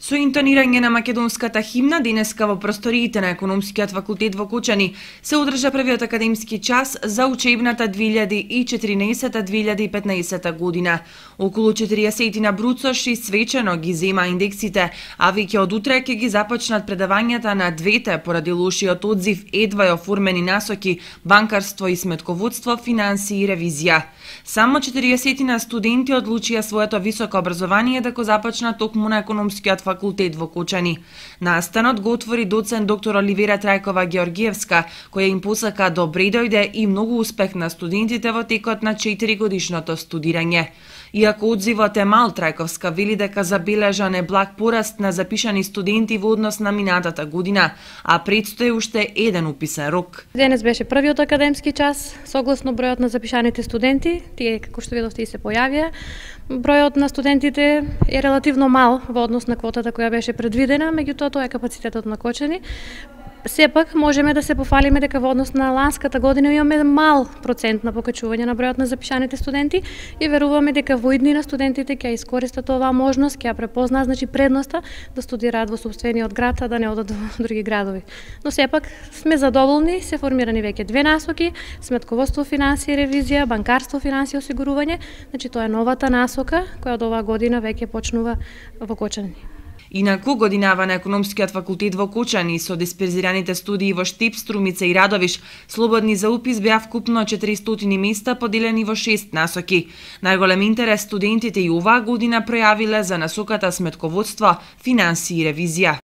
Со интонирање на македонската химна денеска во просториите на Економскиот факултет во Кочани се одржа првиот академски час за учебната 2014-2015 година. Околу 40 бруцоши свечено ги зема индексите, а веќе од утре ќе ги започнат предавањата на двете поради лошиот одзив едва и оформени насоки банкарство и сметководство, финансии и ревизија. Само 40 студенти одлучија своето високо образование да го започнат токму на Економскиот факултет во Кочани. Настанот го отвори доцент доктор Оливера Трајкова Георгиевска, која им посака добре дојде и многу успех на студентите во текот на 4-годишното студирање. Иако одзивот е мал, Трајковска вели дека забележа неблаг пораст на запишани студенти во однос на минатата година, а предстои уште еден уписен рок. Денес беше првиот академски час, согласно бројот на запишаните студенти, тие како што видовте и се појавија. Бројот на студентите е релативно мал во однос на квотата која беше предвидена, меѓутоа тоа е капацитетот на Кочани. Сепак можеме да се пофалиме дека во однос на ланската година имаме мал процент на покачување на бројот на запишаните студенти и веруваме дека во иднина студентите ќе искористат оваа можност, ќе ја препознаат предноста да студираат во сопствениот град, а да не одат во други градови. Но сепак сме задоволни, се формирани веќе две насоки: сметководство, финансии, ревизија, банкарство, финансии, осигурување. Тоа е новата насока која од оваа година веќе почнува во Кочани. Инаку, годинава на Економскиот факултет во Кочани со дисперзираните студии во Штип, Струмица и Радовиш, слободни за упис беа вкупно 400 места поделени во 6 насоки. Најголем интерес студентите и оваа година пројавиле за насоката сметководство, финансии и ревизија.